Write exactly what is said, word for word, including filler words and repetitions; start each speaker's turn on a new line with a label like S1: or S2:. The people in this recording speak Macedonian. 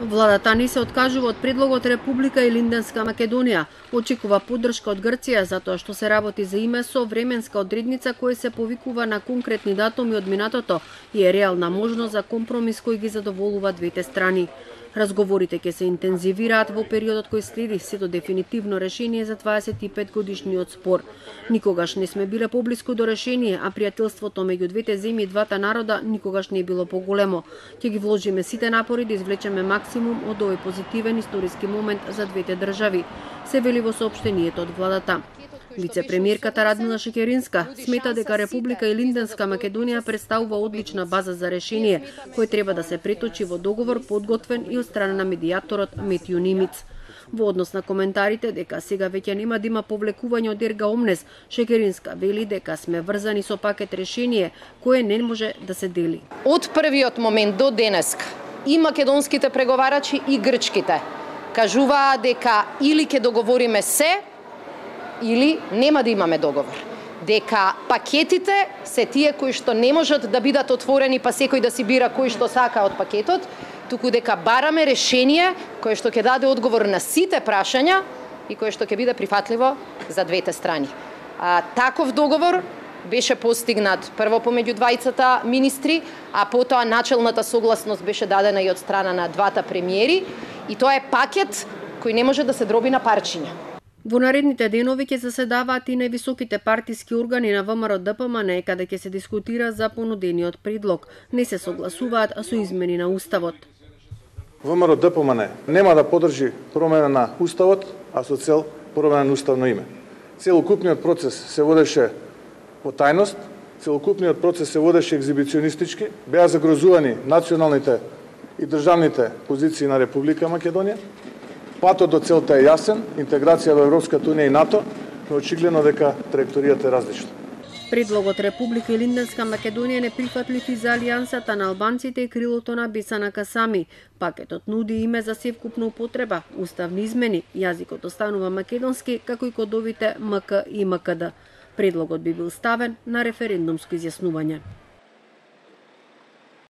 S1: Владата ни се откажува од предлогот Република Илинденска Македонија. Очекува поддршка од Грција затоа што се работи за име со временска одредница која се повикува на конкретни датуми од минатото и е реална можност за компромис кој ги задоволува двете страни. Разговорите ќе се интензивираат во периодот кој следи сето дефинитивно решение за дваесет и пет годишниот спор. Никогаш не сме биле поблиску до решение, а пријателството меѓу двете земји и двата народа никогаш не е било поголемо. Ќе ги вложиме сите напори да извлечеме максимум од овој позитивен историски момент за двете држави, се вели во соопштението од владата. Вице-премиерката Радмила Шекеринска смета дека Република Илинденска Македонија представува одлична база за решение, кој треба да се преточи во договор подготвен и од страна на медијаторот Метју Нимиц. Во однос на коментарите дека сега веќе нема да има повлекување од ерга омнес, Шекеринска вели дека сме врзани со пакет решение кое не може да се дели.
S2: Од првиот момент до денеска и македонските преговарачи и грчките кажуваа дека или ќе договориме се, или нема да имаме договор. Дека пакетите се тие кои што не можат да бидат отворени па секој да си бира кој што сака од пакетот, туку дека бараме решение кое што ќе даде одговор на сите прашања и кое што ќе биде прифатливо за двете страни. А, таков договор беше постигнат прво помеѓу двајцата министри, а потоа начелната согласност беше дадена и од страна на двата премиери, и тоа е пакет кој не може да се дроби на парчиња.
S1: Во наредните денови ќе заседаваат и највисоките партиски органи на ВМРО Д П М Н, каде ќе се дискутира за понудениот предлог. Не се согласуваат со измени на уставот.
S3: ВМРО Д П М Н нема да поддржи промена на уставот, а со цел промена на уставно име. Целокупниот процес се водеше по тајност, целокупниот процес се водеше екзибиционистички, беа загрозувани националните и државните позиции на Република Македонија. Патот до целта е јасен, интеграција во Европската унија и НАТО, но очигледно дека траекторијата е различна.
S1: Предлогот Република Илинденска Македонија не прифатлив и за алијансата на албанците и крилото на Бесана Касами. Пакетот нуди име за севкупна употреба, уставни измени, јазикот останува македонски, како и кодовите М К и М К Д. Предлогот би бил ставен на референдумско изјаснување.